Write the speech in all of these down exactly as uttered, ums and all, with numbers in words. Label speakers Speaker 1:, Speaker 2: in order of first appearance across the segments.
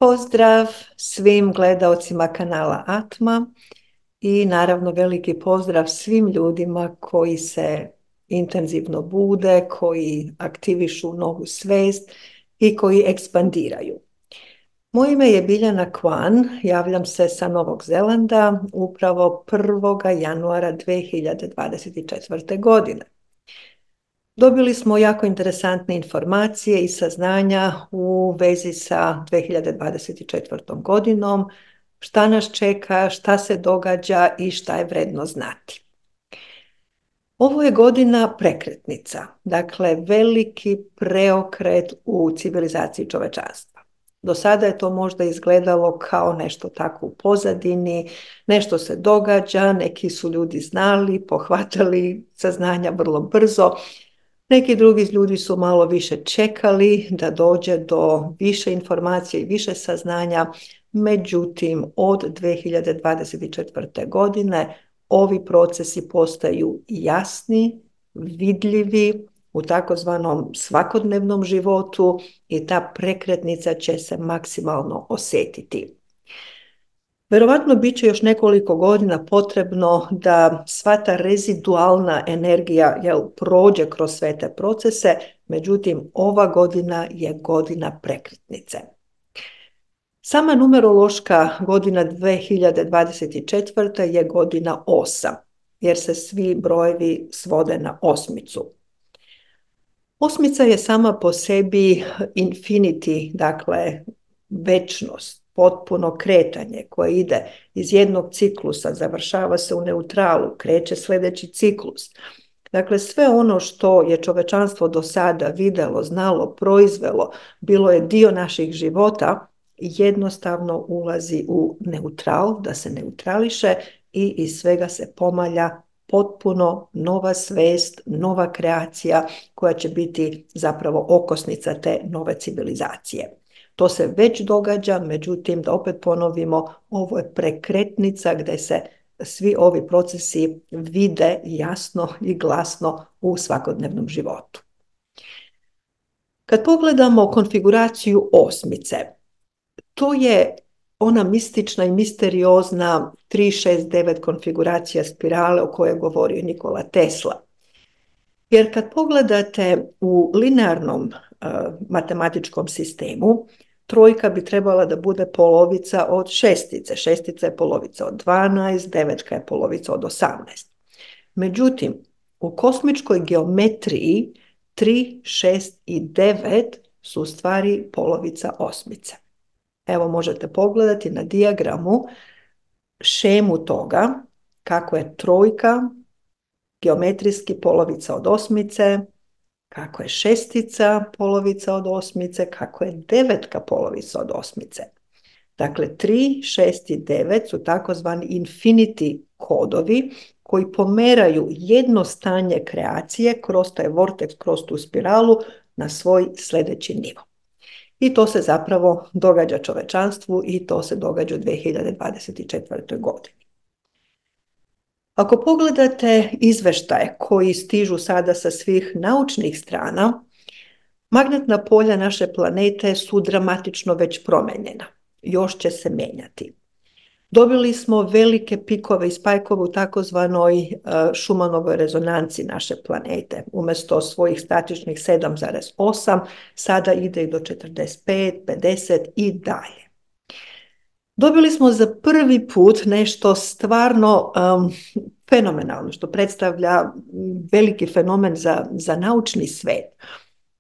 Speaker 1: Pozdrav svim gledaocima kanala Atma i naravno veliki pozdrav svim ljudima koji se intenzivno bude, koji aktivišu novu svest i koji ekspandiraju. Moje ime je Biljana Kwan, javljam se sa Novog Zelanda upravo prvog januara dve hiljade dvadeset četvrte. godine. Dobili smo jako interesantne informacije i saznanja u vezi sa dve hiljade dvadeset četvrtom. godinom, šta nas čeka, šta se događa i šta je vredno znati. Ovo je godina prekretnica, dakle veliki preokret u civilizaciji čovečanstva. Do sada je to možda izgledalo kao nešto tako u pozadini, nešto se događa, neki su ljudi znali, pohvatali saznanja vrlo brzo. Neki drugi ljudi su malo više čekali da dođe do više informacije i više saznanja, međutim od dve hiljade dvadeset četvrte. godine ovi procesi postaju jasni, vidljivi u takozvanom svakodnevnom životu i ta prekretnica će se maksimalno osjetiti. Verovatno bit će još nekoliko godina potrebno da sva ta rezidualna energija jel, prođe kroz sve te procese, međutim ova godina je godina prekretnice. Sama numerološka godina dve hiljade dvadeset četvrte. je godina osam, jer se svi brojevi svode na osmicu. Osmica je sama po sebi infinity, dakle večnost, potpuno kretanje koje ide iz jednog ciklusa, završava se u neutralu, kreće sljedeći ciklus. Dakle, sve ono što je čovečanstvo do sada vidjelo, znalo, proizvelo, bilo je dio naših života, jednostavno ulazi u neutral, da se neutrališe i iz svega se pomalja potpuno nova svest, nova kreacija koja će biti zapravo okosnica te nove civilizacije. To se već događa, međutim, da opet ponovimo, ovo je prekretnica gdje se svi ovi procesi vide jasno i glasno u svakodnevnom životu. Kad pogledamo konfiguraciju osmice, to je ona mistična i misteriozna tri šest devet konfiguracija spirale o kojoj je govorio Nikola Tesla. Jer kad pogledate u linearnom uh, matematičkom sistemu, trojka bi trebala da bude polovica od šestice, šestica je polovica od dvanaest, devetka je polovica od osamnaest. Međutim, u kosmičkoj geometriji tri, šest i devet su u stvari polovica osmice. Evo možete pogledati na dijagramu šemu toga kako je trojka geometrijski polovica od osmice, kako je šestica polovica od osmice, kako je devetka polovica od osmice. Dakle, tri, šest i devet su takozvani infinity kodovi koji pomeraju jedno stanje kreacije kroz taj vortex, kroz tu spiralu na svoj sljedeći nivo. I to se zapravo događa čovečanstvu i to se događa u dve hiljade dvadeset četvrtoj. godini. Ako pogledate izveštaje koji stižu sada sa svih naučnih strana, magnetna polja naše planete su dramatično već promenjena. Još će se mijenjati. Dobili smo velike pikove i spajkove u takozvanoj Schumannovoj rezonanci naše planete. Umjesto svojih statičnih sedam zarez osam, sada ide i do četrdeset pet, pedeset i dalje. Dobili smo za prvi put nešto stvarno um, fenomenalno, što predstavlja veliki fenomen za, za naučni svet.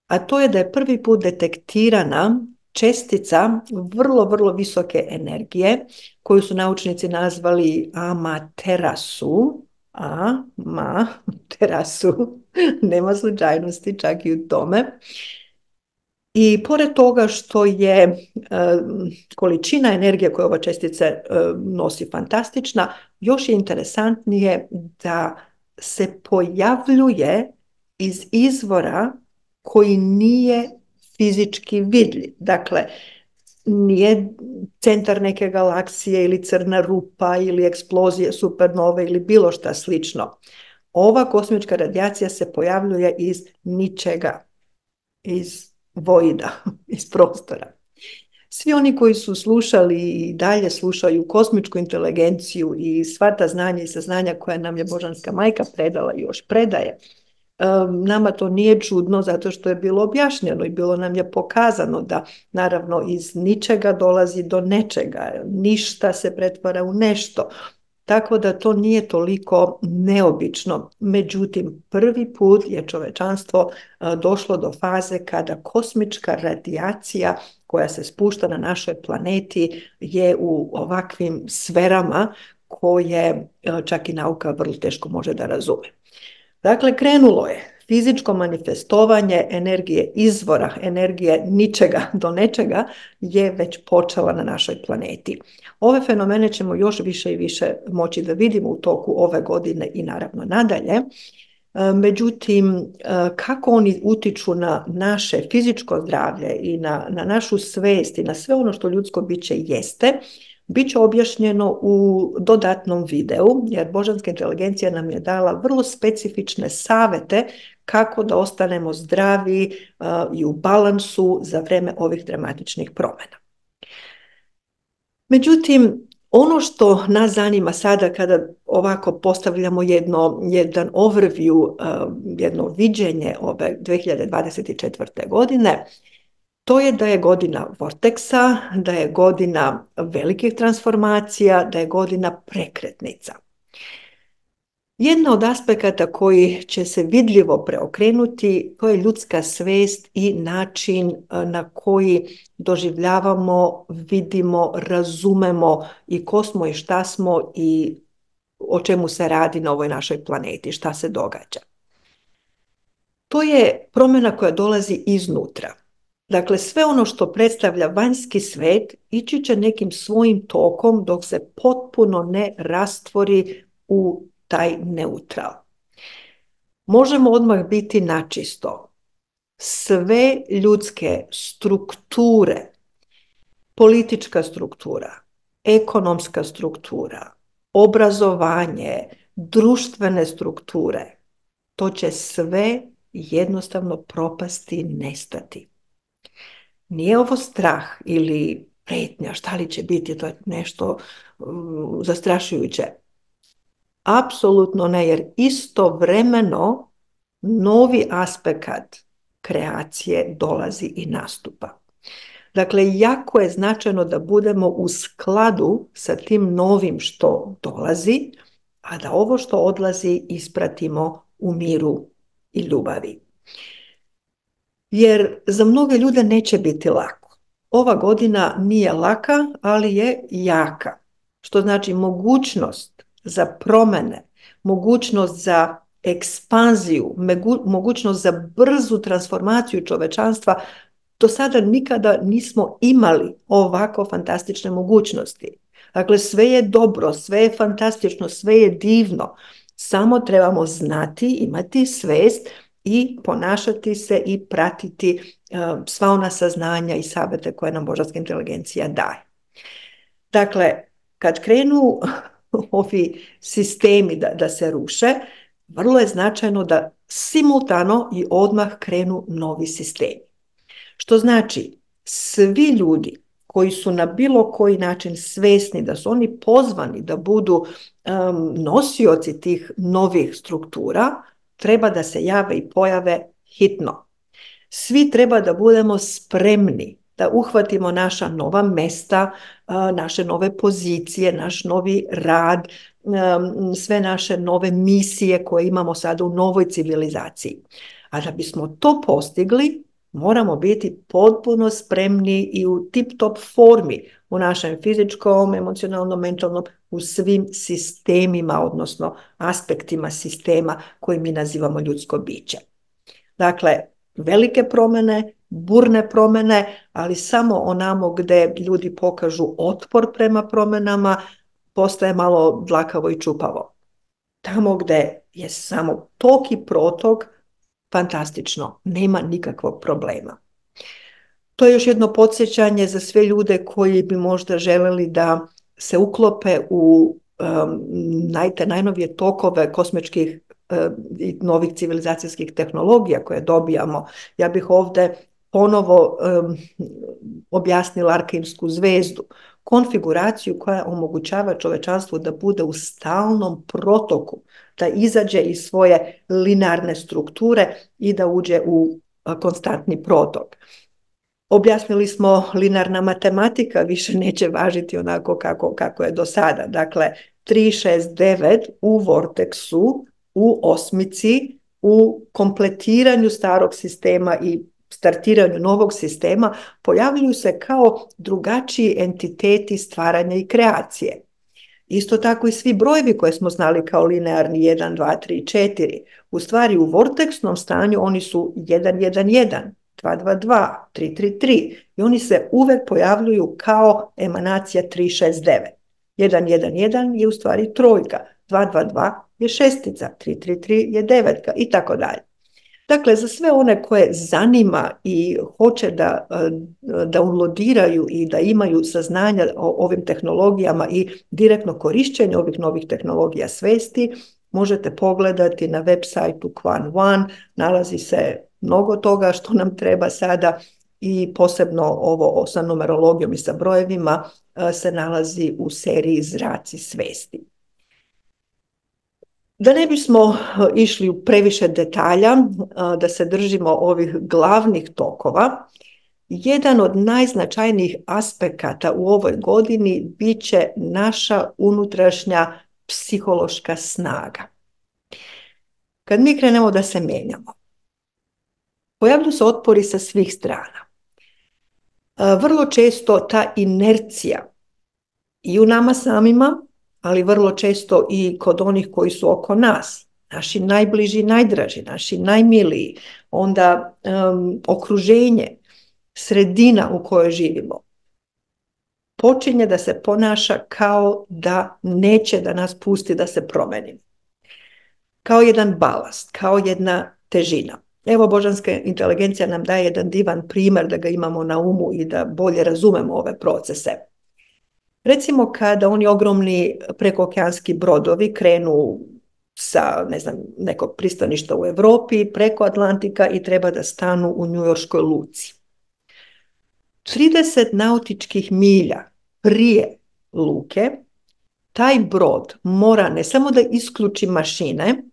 Speaker 1: A to je da je prvi put detektirana čestica vrlo, vrlo visoke energije, koju su naučnici nazvali Amaterasu. Amaterasu, nema slučajnosti čak i u tome. I pored toga što je e, količina energije koju ova čestica e, nosi fantastična, još je interesantnije da se pojavljuje iz izvora koji nije fizički vidljiv. Dakle, nije centar neke galaksije ili crna rupa ili eksplozije supernove ili bilo šta slično. Ova kosmička radijacija se pojavljuje iz ničega, iz voida, iz prostora. Svi oni koji su slušali i dalje slušaju kosmičku inteligenciju i sva ta znanja i saznanja koja nam je Božanska majka predala i još predaje, nama to nije čudno zato što je bilo objašnjeno i bilo nam je pokazano da naravno iz ničega dolazi do nečega, ništa se pretvara u nešto. Tako da to nije toliko neobično. Međutim, prvi put je čovečanstvo došlo do faze kada kosmička radijacija koja se spušta na našoj planeti je u ovakvim sferama koje čak i nauka vrlo teško može da razume. Dakle, krenulo je fizičko manifestovanje energije izvora, energije ničega do nečega je već počela na našoj planeti. Ove fenomene ćemo još više i više moći da vidimo u toku ove godine i naravno nadalje. Međutim, kako oni utiču na naše fizičko zdravlje i na, na našu svest i na sve ono što ljudsko biće jeste, bit će objašnjeno u dodatnom videu, jer Božanska inteligencija nam je dala vrlo specifične savete kako da ostanemo zdravi uh, i u balansu za vreme ovih dramatičnih promjena. Međutim, ono što nas zanima sada kada ovako postavljamo jedno, jedan overview, uh, jedno viđenje ove dve hiljade dvadeset četvrte. godine, to je da je godina vorteksa, da je godina velikih transformacija, da je godina prekretnica. Jedna od aspekata koji će se vidljivo preokrenuti, to je ljudska svest i način na koji doživljavamo, vidimo, razumemo i ko smo i šta smo i o čemu se radi na ovoj našoj planeti, šta se događa. To je promjena koja dolazi iznutra. Dakle, sve ono što predstavlja vanjski svet ići će nekim svojim tokom dok se potpuno ne rastvori u taj neutral. Možemo odmah biti načisto. Sve ljudske strukture, politička struktura, ekonomska struktura, obrazovanje, društvene strukture, to će sve jednostavno propasti i nestati. Nije ovo strah ili pretnja, šta li će biti, to je nešto um, zastrašujuće. Apsolutno ne, jer istovremeno novi aspekt kreacije dolazi i nastupa. Dakle, jako je značajno da budemo u skladu sa tim novim što dolazi, a da ovo što odlazi ispratimo u miru i ljubavi. Jer za mnoge ljude neće biti lako. Ova godina nije laka, ali je jaka. Što znači mogućnost za promjene, mogućnost za ekspanziju, mogućnost za brzu transformaciju čovečanstva. Do sada nikada nismo imali ovako fantastične mogućnosti. Dakle, sve je dobro, sve je fantastično, sve je divno. Samo trebamo znati, imati svest i ponašati se i pratiti uh, sva ona saznanja i savjete koje nam Božanska inteligencija daje. Dakle, kad krenu ovi sistemi da, da se ruše, vrlo je značajno da simultano i odmah krenu novi sistemi. Što znači, svi ljudi koji su na bilo koji način svesni da su oni pozvani da budu um, nosioci tih novih struktura, treba da se jave i pojave hitno. Svi treba da budemo spremni da uhvatimo naša nova mesta, naše nove pozicije, naš novi rad, sve naše nove misije koje imamo sada u novoj civilizaciji. A da bismo to postigli, moramo biti potpuno spremni i u tip-top formi u našem fizičkom, emocionalnom, mentalnom, u svim sistemima, odnosno aspektima sistema koji mi nazivamo ljudsko biće. Dakle, velike promjene, burne promjene, ali samo onamo gdje ljudi pokažu otpor prema promjenama, postaje malo dlakavo i čupavo. Tamo gdje je samo tok i protok, fantastično, nema nikakvog problema. To je još jedno podsjećanje za sve ljude koji bi možda želeli da se uklope u um, najte, najnovije tokove kosmičkih uh, i novih civilizacijskih tehnologija koje dobijamo. Ja bih ovdje ponovo um, objasnila Arkejsku zvezdu, konfiguraciju koja omogućava čovečanstvu da bude u stalnom protoku, da izađe iz svoje linearne strukture i da uđe u konstantni protok. Objasnili smo, linearna matematika više neće važiti onako kako, kako je do sada. Dakle, tri, šest, devet u vorteksu, u osmici, u kompletiranju starog sistema i startiranju novog sistema pojavljuju se kao drugačiji entiteti stvaranja i kreacije. Isto tako i svi brojevi koje smo znali kao linearni jedan, dva, tri, četiri. U stvari u vorteksnom stanju oni su jedan, jedan, jedan, dva, dva, dva, tri, tri, tri i oni se uvek pojavljuju kao emanacija tri, šest, devet. jedan, jedan, jedan je u stvari trojka, dva, dva, dva je šestica, tri, tri, tri je devetka i tako dalje. Dakle, za sve one koje zanima i hoće da, da unlodiraju i da imaju saznanja o ovim tehnologijama i direktno korišćenje ovih novih tehnologija svesti, možete pogledati na web sajtu Quan One, nalazi se mnogo toga što nam treba sada i posebno ovo sa numerologijom i sa brojevima se nalazi u seriji Zraci svesti. Da ne bismo išli u previše detalja, da se držimo ovih glavnih tokova, jedan od najznačajnijih aspekata u ovoj godini bit će naša unutrašnja psihološka snaga. Kad mi krenemo da se menjamo, pojavljuju se otpori sa svih strana. Vrlo često ta inercija i u nama samima, ali vrlo često i kod onih koji su oko nas, naši najbliži, najdraži, naši najmiliji, onda um, okruženje, sredina u kojoj živimo, počinje da se ponaša kao da neće da nas pusti da se promenimo. Kao jedan balast, kao jedna težina. Evo, božanska inteligencija nam daje jedan divan primjer da ga imamo na umu i da bolje razumemo ove procese. Recimo kada oni ogromni prekookeanski brodovi krenu sa, ne znam, nekog pristaništa u Evropi preko Atlantika i treba da stanu u njujorškoj luci. trideset nautičkih milja prije luke taj brod mora ne samo da isključi mašine,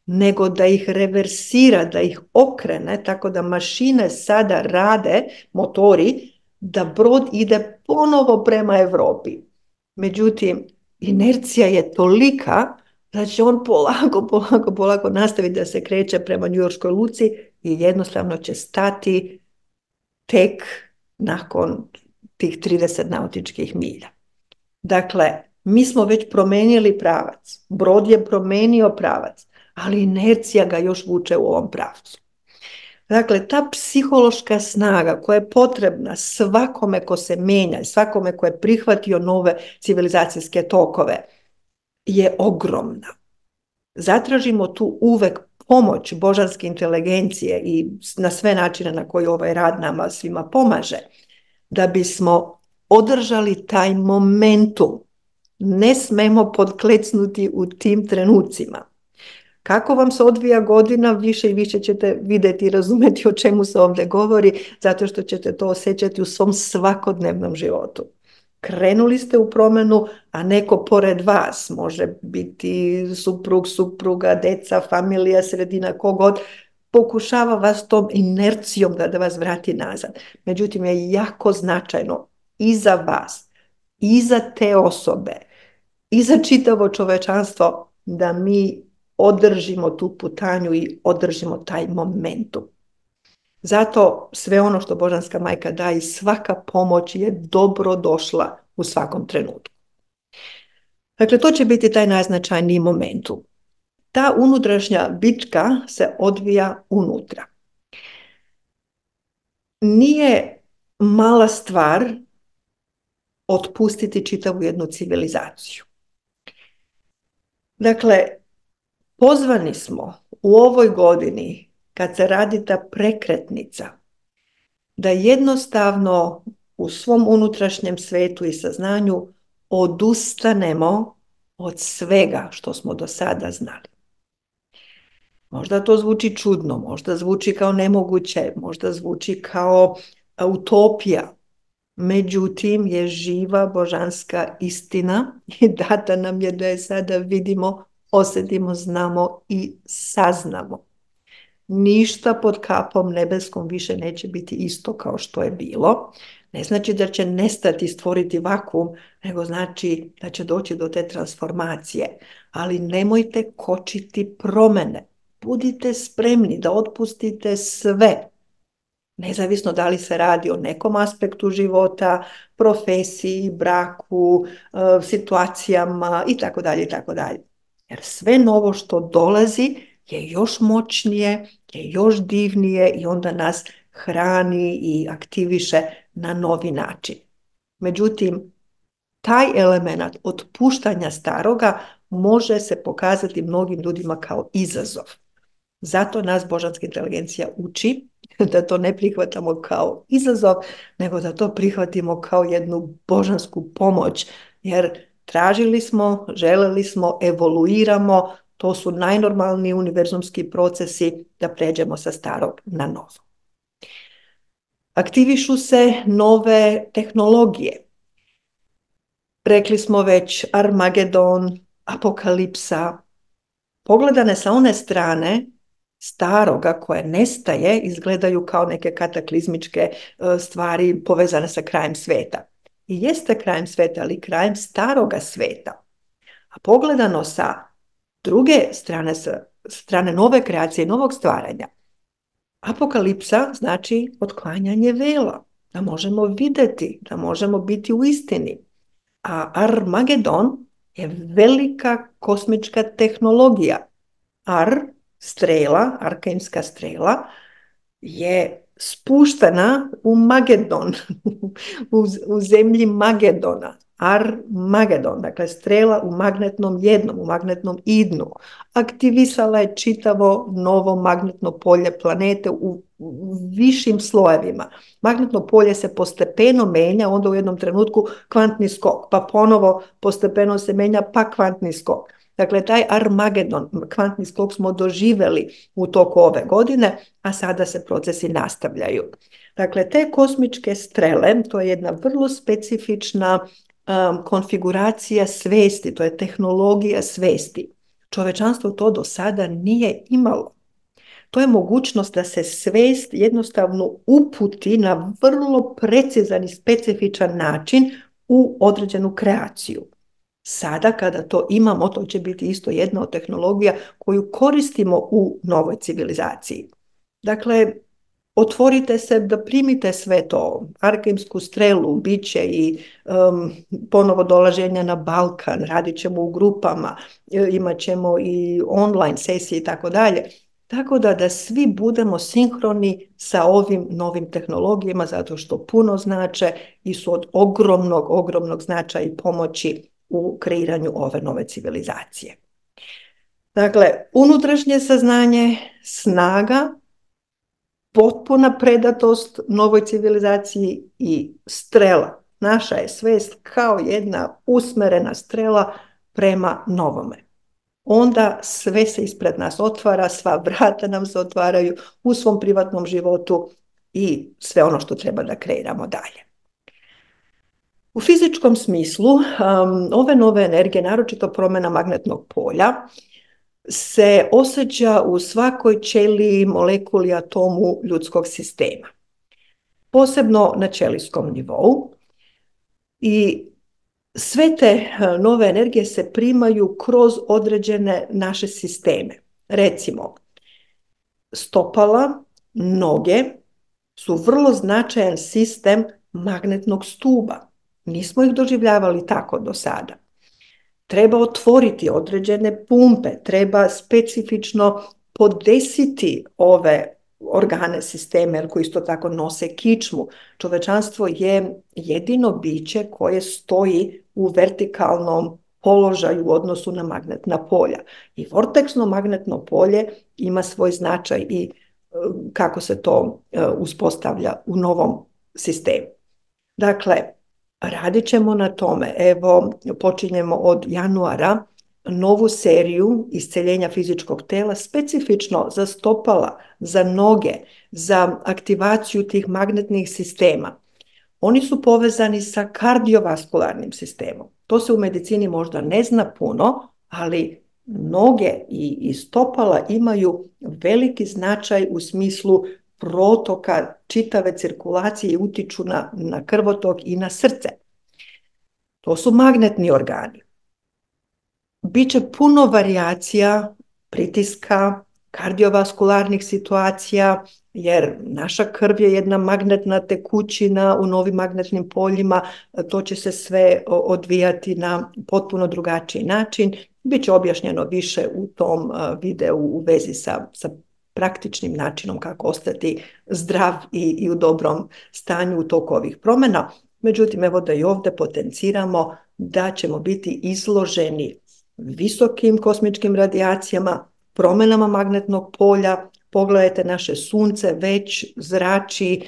Speaker 1: nego da ih reversira, da ih okrene, tako da mašine sada rade, motori, da brod ide ponovo prema Evropi. Međutim, inercija je tolika da će on polako, polako, polako nastaviti da se kreće prema njujorškoj luci i jednostavno će stati tek nakon tih trideset nautičkih milja. Dakle, mi smo već promenili pravac, brod je promenio pravac, ali inercija ga još vuče u ovom pravcu. Dakle, ta psihološka snaga koja je potrebna svakome ko se menja, svakome ko je prihvatio nove civilizacijske tokove, je ogromna. Zatražimo tu uvek pomoć božanske inteligencije i na sve načine na koji ovaj rad nama svima pomaže, da bismo održali taj momentum. Ne smemo podklecnuti u tim trenucima. Kako vam se odvija godina, više i više ćete vidjeti i razumjeti o čemu se ovdje govori, zato što ćete to osjećati u svom svakodnevnom životu. Krenuli ste u promjenu, a neko pored vas, može biti suprug, supruga, deca, familija, sredina, kogod, pokušava vas tom inercijom da, da vas vrati nazad. Međutim, je jako značajno i za vas, i za te osobe, i za čitavo čovečanstvo da mi održimo tu putanju i održimo taj momentum. Zato sve ono što Božanska majka daje i svaka pomoć je dobro došla u svakom trenutku. Dakle, to će biti taj najznačajniji momentum. Ta unutrašnja bitka se odvija unutra. Nije mala stvar otpustiti čitavu jednu civilizaciju. Dakle, pozvani smo u ovoj godini, kad se radi ta prekretnica, da jednostavno u svom unutrašnjem svetu i saznanju odustanemo od svega što smo do sada znali. Možda to zvuči čudno, možda zvuči kao nemoguće, možda zvuči kao utopija. Međutim, je živa božanska istina i data nam je da je sada vidimo, osjetimo, znamo i saznamo. Ništa pod kapom nebeskom više neće biti isto kao što je bilo. Ne znači da će nestati, stvoriti vakuum, nego znači da će doći do te transformacije. Ali nemojte kočiti promjene. Budite spremni da otpustite sve. Nezavisno da li se radi o nekom aspektu života, profesiji, braku, situacijama i tako dalje i tako dalje. Jer sve novo što dolazi je još moćnije, je još divnije i onda nas hrani i aktiviše na novi način. Međutim, taj element otpuštanja staroga može se pokazati mnogim ljudima kao izazov. Zato nas božanska inteligencija uči da to ne prihvatamo kao izazov, nego da to prihvatimo kao jednu božansku pomoć, jer tražili smo, želeli smo, evoluiramo, to su najnormalniji univerzumski procesi da pređemo sa starog na novo. Aktivišu se nove tehnologije. Rekli smo već Armagedon, apokalipsa. Pogledane sa one strane staroga koje nestaje izgledaju kao neke kataklizmičke stvari povezane sa krajem sveta. I jeste krajem sveta, ali krajem staroga sveta. A pogledano sa druge strane, sa strane nove kreacije, novog stvaranja, apokalipsa znači otklanjanje vela, da možemo vidjeti, da možemo biti u istini. A Armagedon je velika kosmička tehnologija. Ar, strela, arkaimska strela, je spuštena u Magedon, u, u zemlji Magedona. Armagedon, dakle strela u magnetnom jednom, u magnetnom idnu. Aktivisala je čitavo novo magnetno polje planete u, u višim slojevima. Magnetno polje se postepeno menja, onda u jednom trenutku kvantni skok, pa ponovo postepeno se menja, pa kvantni skok. Dakle, taj Armagedon, kvantni skok smo doživjeli u toku ove godine, a sada se procesi nastavljaju. Dakle, te kosmičke strele, to je jedna vrlo specifična um, konfiguracija svesti, to je tehnologija svesti. Čovečanstvo to do sada nije imalo. To je mogućnost da se svest jednostavno uputi na vrlo precizan i specifičan način u određenu kreaciju. Sada kada to imamo, to će biti isto jedna od tehnologija koju koristimo u novoj civilizaciji. Dakle, otvorite se da primite sve to, arkaimsku strelu, biće i um, ponovo dolaženja na Balkan, radit ćemo u grupama, imat ćemo i online sesije i tako dalje. Tako da da svi budemo sinhroni sa ovim novim tehnologijama zato što puno znače i su od ogromnog, ogromnog značaja i pomoći u kreiranju ove nove civilizacije. Dakle, unutrašnje saznanje, snaga, potpuna predatost novoj civilizaciji i strela. Naša je svest kao jedna usmerena strela prema novome. Onda sve se ispred nas otvara, sva vrata nam se otvaraju u svom privatnom životu i sve ono što treba da kreiramo dalje. U fizičkom smislu, um, ove nove energije, naročito promjena magnetnog polja, se osjeća u svakoj ćeliji, molekuli, atomu ljudskog sistema. Posebno na ćelijskom nivou. I sve te nove energije se primaju kroz određene naše sisteme. Recimo, stopala, noge su vrlo značajan sistem magnetnog stuba. Nismo ih doživljavali tako do sada. Treba otvoriti određene pumpe, treba specifično podesiti ove organe, sisteme koji isto tako nose kičmu. Čovečanstvo je jedino biće koje stoji u vertikalnom položaju u odnosu na magnetna polja. I vorteksno magnetno polje ima svoj značaj i kako se to uspostavlja u novom sistemu. Dakle, radit ćemo na tome. Evo, počinjemo od januara novu seriju isceljenja fizičkog tela, specifično za stopala, za noge, za aktivaciju tih magnetnih sistema. Oni su povezani sa kardiovaskularnim sistemom. To se u medicini možda ne zna puno, ali noge i, i stopala imaju veliki značaj u smislu protoka čitave cirkulacije i utiču na, na krvotok i na srce. To su magnetni organi. Biće puno varijacija pritiska, kardiovaskularnih situacija, jer naša krv je jedna magnetna tekućina u novim magnetnim poljima, to će se sve odvijati na potpuno drugačiji način. Biće objašnjeno više u tom videu u vezi sa, sa praktičnim načinom kako ostati zdrav i, i u dobrom stanju u toku ovih promjena. Međutim, evo da i ovdje potenciramo da ćemo biti izloženi visokim kosmičkim radijacijama, promjenama magnetnog polja. Pogledajte, naše sunce već zrači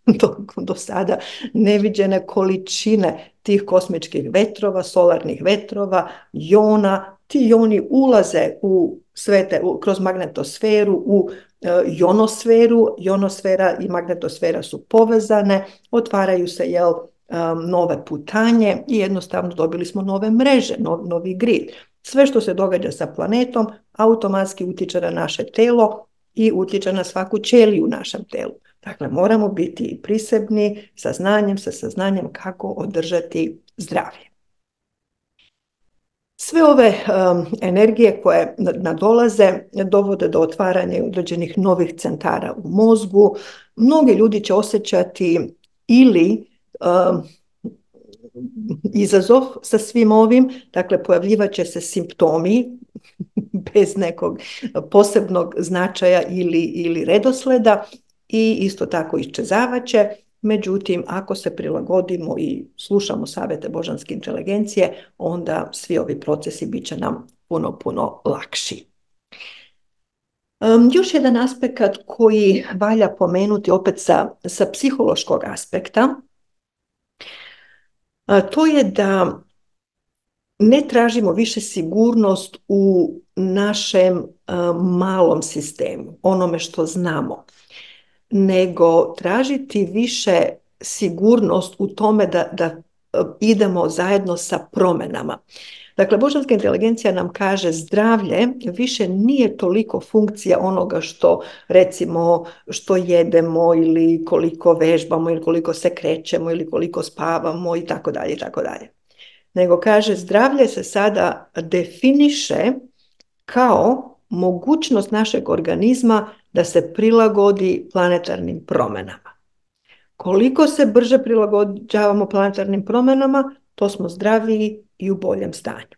Speaker 1: do, do sada neviđene količine tih kosmičkih vetrova, solarnih vetrova, jona. Ti joni ulaze u svete, u, kroz magnetosferu, u e, jonosferu. Jonosfera i magnetosfera su povezane, otvaraju se, jel, um, nove putanje i jednostavno dobili smo nove mreže, nov, novi grid. Sve što se događa sa planetom automatski utječe na naše telo i utječe na svaku ćeliju u našem telu. Dakle, moramo biti prisebni sa znanjem, sa saznanjem kako održati zdravlje. Sve ove um, energije koje nadolaze dovode do otvaranja određenih novih centara u mozgu. Mnogi ljudi će osjećati ili um, izazov sa svim ovim, dakle pojavljivat će se simptomi bez nekog posebnog značaja ili, ili redosleda i isto tako iščezavat će. Međutim, ako se prilagodimo i slušamo savjete božanske inteligencije, onda svi ovi procesi bit će nam puno, puno lakši. Um, još jedan aspekt koji valja pomenuti opet sa, sa psihološkog aspekta, a to je da ne tražimo više sigurnost u našem um, malom sistemu, onome što znamo, nego tražiti više sigurnost u tome da, da idemo zajedno sa promjenama. Dakle, božanska inteligencija nam kaže zdravlje više nije toliko funkcija onoga što, recimo, što jedemo ili koliko vežbamo ili koliko se krećemo ili koliko spavamo i tako dalje i tako dalje. Nego kaže zdravlje se sada definiše kao mogućnost našeg organizma da se prilagodi planetarnim promjenama. Koliko se brže prilagođavamo planetarnim promjenama, to smo zdraviji i u boljem stanju.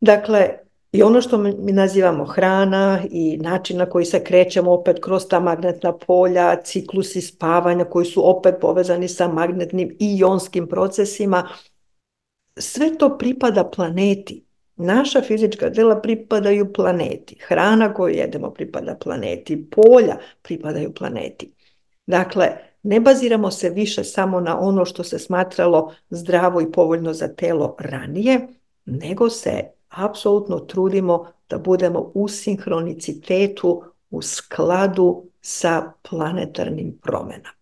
Speaker 1: Dakle, i ono što mi nazivamo hrana i način na koji se krećemo opet kroz ta magnetna polja, ciklusi spavanja koji su opet povezani sa magnetnim i jonskim procesima, sve to pripada planeti. Naša fizička tela pripadaju planeti. Hrana koju jedemo pripada planeti. Polja pripadaju planeti. Dakle, ne baziramo se više samo na ono što se smatralo zdravo i povoljno za telo ranije, nego se apsolutno trudimo da budemo u sinhronicitetu, u skladu sa planetarnim promjenama.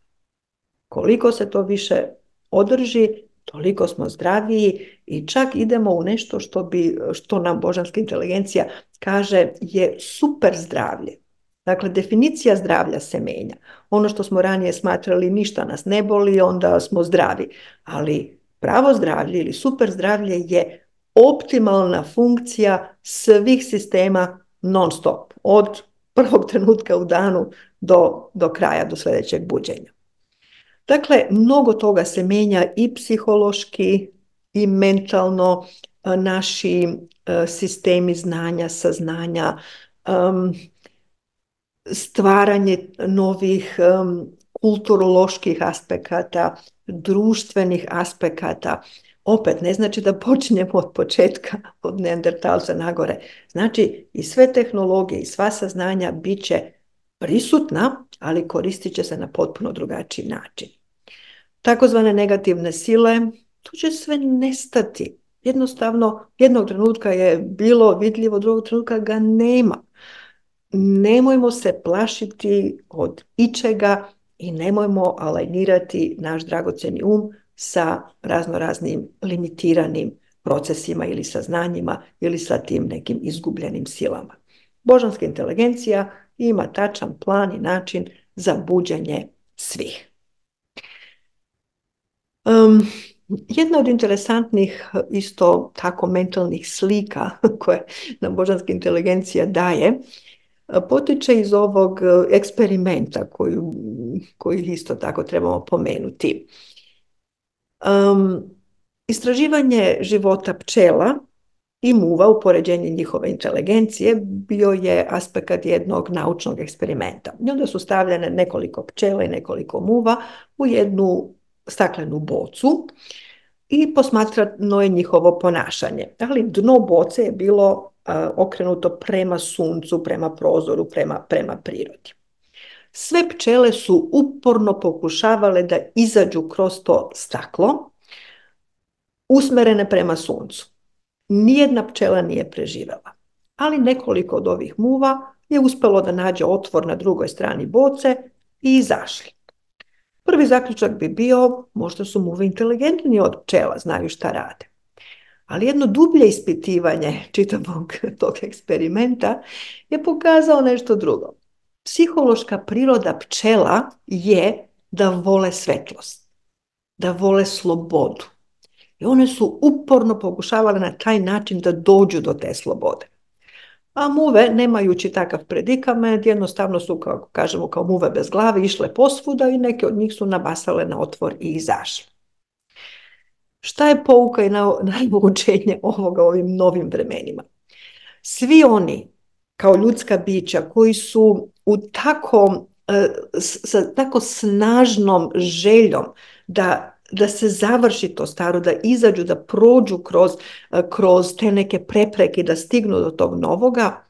Speaker 1: Koliko se to više održi, toliko smo zdraviji i čak idemo u nešto što, bi, što nam božanska inteligencija kaže je super zdravlje. Dakle, definicija zdravlja se menja. Ono što smo ranije smatrali ništa nas ne boli, onda smo zdravi. Ali pravo zdravlje ili super zdravlje je optimalna funkcija svih sistema non stop. Od prvog trenutka u danu do, do kraja, do sljedećeg buđenja. Dakle, mnogo toga se menja i psihološki i mentalno, naši sistemi znanja, saznanja, stvaranje novih kulturoloških aspekata, društvenih aspekata. Opet, ne znači da počinjemo od početka, od neandertalca nagore. Znači, i sve tehnologije i sva saznanja bit će prisutna, ali koristit će se na potpuno drugačiji način. Takozvane negativne sile, tu će sve nestati. Jednostavno, jednog trenutka je bilo vidljivo, drugog trenutka ga nema. Nemojmo se plašiti od ičega i nemojmo alajnirati naš dragocjeni um sa raznoraznim limitiranim procesima ili saznanjima ili sa tim nekim izgubljenim silama. Božanska inteligencija ima tačan plan i način za buđenje svih. Um, jedna od interesantnih isto tako mentalnih slika koje nam božanska inteligencija daje potiče iz ovog eksperimenta koju, koji isto tako trebamo pomenuti. Um, istraživanje života pčela i muva u poređenju njihove inteligencije bio je aspekt jednog naučnog eksperimenta. I onda su stavljene nekoliko pčela i nekoliko muva u jednu staklenu bocu i posmatrano je njihovo ponašanje. Ali dno boce je bilo a, okrenuto prema suncu, prema prozoru, prema, prema prirodi. Sve pčele su uporno pokušavale da izađu kroz to staklo, usmerene prema suncu. Nijedna pčela nije preživela, ali nekoliko od ovih muva je uspelo da nađe otvor na drugoj strani boce i izašli. Prvi zaključak bi bio, možda su muve inteligentniji od pčela, znaju šta rade. Ali jedno dublje ispitivanje čitavog tog eksperimenta je pokazao nešto drugo. Psihološka priroda pčela je da vole svetlost, da vole slobodu. I one su uporno pokušavale na taj način da dođu do te slobode. A muve, nemajući takav predikament, jednostavno su, kao kažemo, kao muve bez glave, išle posvuda i neke od njih su nabasale na otvor i izašle. Šta je pouka i naučenje ovoga ovim novim vremenima? Svi oni, kao ljudska bića, koji su u tako, sa tako snažnom željom da da se završi to staro, da izađu, da prođu kroz, kroz te neke prepreke, da stignu do tog novoga,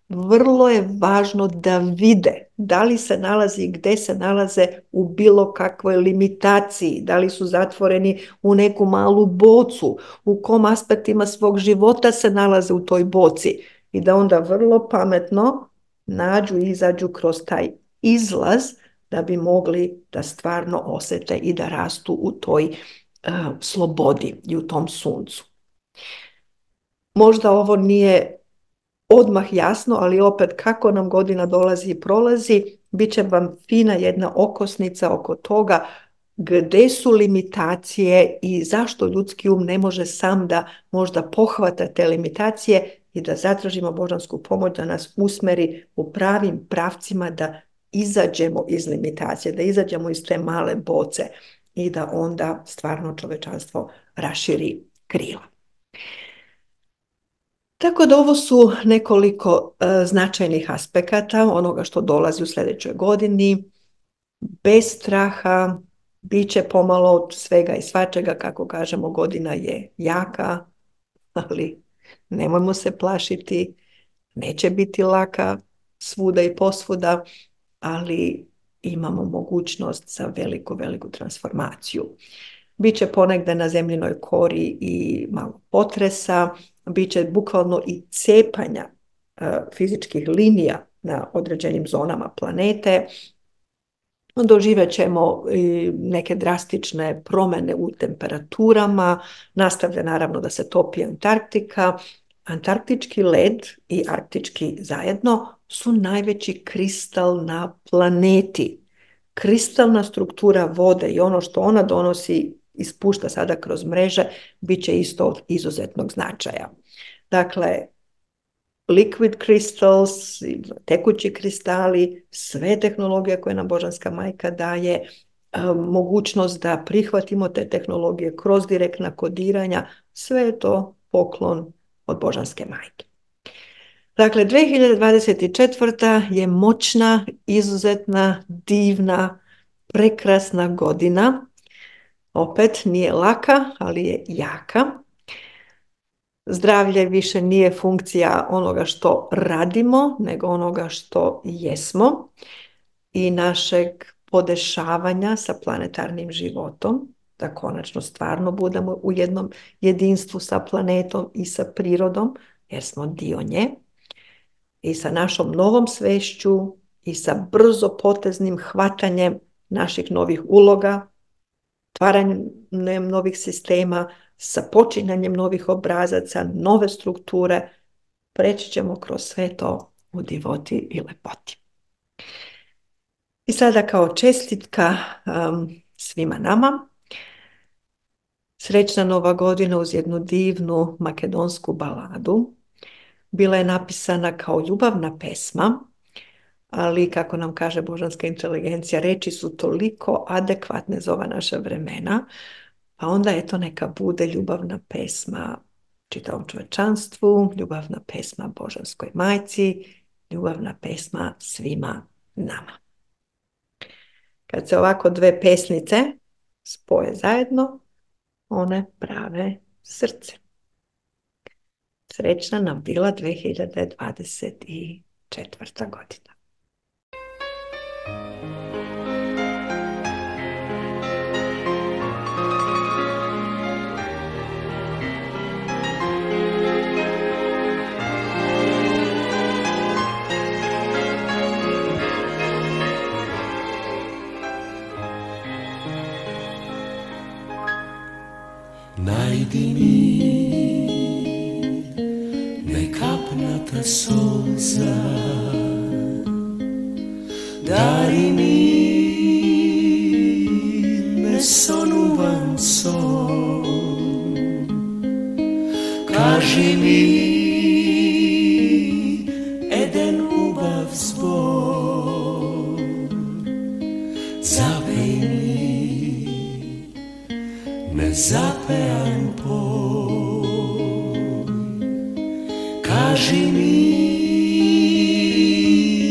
Speaker 1: vrlo je važno da vide da li se nalazi i gde se nalaze u bilo kakvoj limitaciji, da li su zatvoreni u neku malu bocu, u kom aspektima svog života se nalaze u toj boci i da onda vrlo pametno nađu i izađu kroz taj izlaz da bi mogli da stvarno osete i da rastu u toj uh, slobodi i u tom suncu. Možda ovo nije odmah jasno, ali opet kako nam godina dolazi i prolazi, bit će vam fina jedna okosnica oko toga gde su limitacije i zašto ljudski um ne može sam da možda pohvata te limitacije i da zatražimo božansku pomoć da nas usmeri u pravim pravcima da izađemo iz limitacije, da izađemo iz te male boce i da onda stvarno čovečanstvo raširi krila. Tako da ovo su nekoliko uh, značajnih aspekata onoga što dolazi u sljedećoj godini. Bez straha, bit će pomalo od svega i svačega, kako kažemo, godina je jaka, ali nemojmo se plašiti, neće biti laka svuda i posvuda, ali imamo mogućnost za veliku, veliku transformaciju. Biće ponegde na zemljinoj kori i malo potresa, biće bukvalno i cepanja uh, fizičkih linija na određenim zonama planete. Doživjet ćemo i neke drastične promjene u temperaturama, nastavlja naravno da se topi Antarktika. Antarktički led i arktički zajedno su najveći kristal na planeti. Kristalna struktura vode i ono što ona donosi ispušta sada kroz mreže bit će isto od izuzetnog značaja. Dakle, liquid crystals, tekući kristali, sve tehnologije koje nam Božanska majka daje, mogućnost da prihvatimo te tehnologije kroz direktna kodiranja, sve je to poklon od Božanske majke. Dakle, dve hiljade dvadeset četvrta je moćna, izuzetna, divna, prekrasna godina. Opet nije laka, ali je jaka. Zdravlje više nije funkcija onoga što radimo, nego onoga što jesmo i našeg podešavanja sa planetarnim životom. da konačno stvarno budemo u jednom jedinstvu sa planetom i sa prirodom, jer smo dio nje, i sa našom novom svešću i sa brzo poteznim hvatanjem naših novih uloga, stvaranjem novih sistema, sa počinjanjem novih obrazaca, nove strukture, preći ćemo kroz sve to u divoti i lepoti. I sada kao čestitka um, svima nama, srećna Nova godina uz jednu divnu makedonsku baladu. Bila je napisana kao ljubavna pesma, ali kako nam kaže božanska inteligencija, reči su toliko adekvatne za ova naša vremena, pa onda eto neka bude ljubavna pesma čitavom čovečanstvu, ljubavna pesma Božanskoj majci, ljubavna pesma svima nama. Kad se ovako dve pesnice spoje zajedno, one prave srce. Srećna nam bila dve hiljade dvadeset četvrta godina.
Speaker 2: Najdi mi nekapnata solza, dari mi nesonuvan son, kaži mi eden ubav zbor, zapej mi nezapejan poj, kaži mi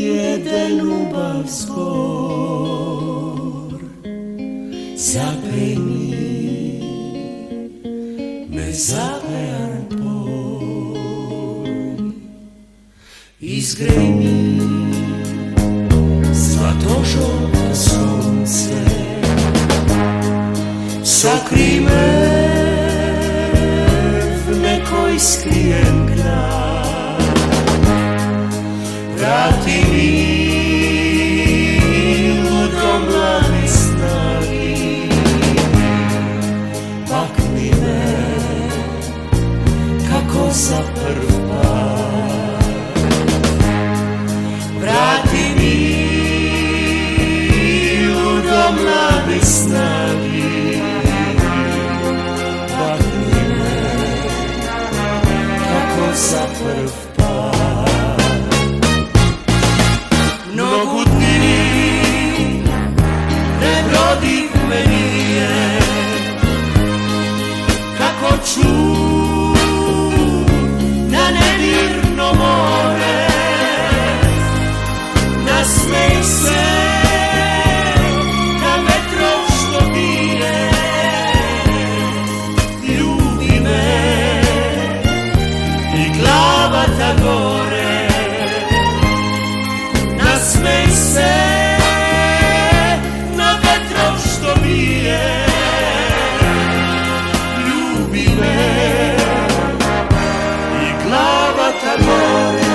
Speaker 2: jeden ubav zbor, zapej mi nezapejan poj, izgrej mi zlatožolto sunce, sakri me v nekoj skrijen grad, vrati mi do mlade snagi, pakni me kako za prv put, vrati mi do mlade snagi, za prv put. Mnogo dni prebrodih me nije, kako ču na nemirno more, nasmej se na vetrov što bije, ljubi me glava ta gore, nasmej se na vetrov što bije, ljubi me i glava ta gore.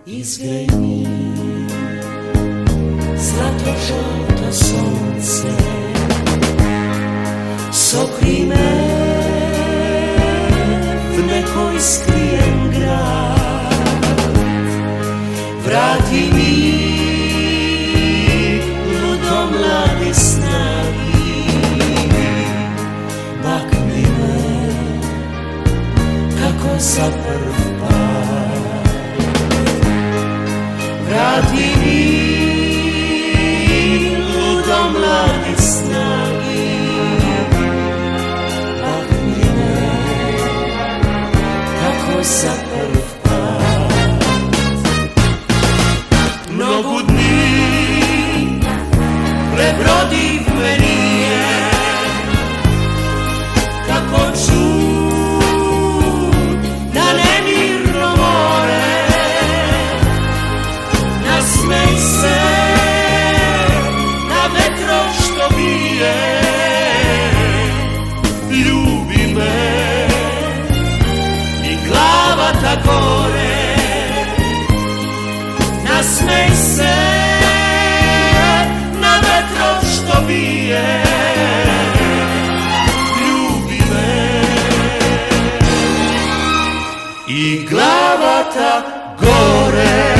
Speaker 2: Izgrej mi zlatožolto sunce, sokri me v nekoj skrijen grad, vrati mi ludo mlade snagi, makni me kako za prv put, vrati mi ludo mlade snagi, makni me kako za prv put. mnogo dni prebrodiv me nije, kako čud da nemirno more, nasmej se na vetro što bije, ljubi me i glava ta gore, nasmej se na vetro što bije, ljubi me i glava ta gore.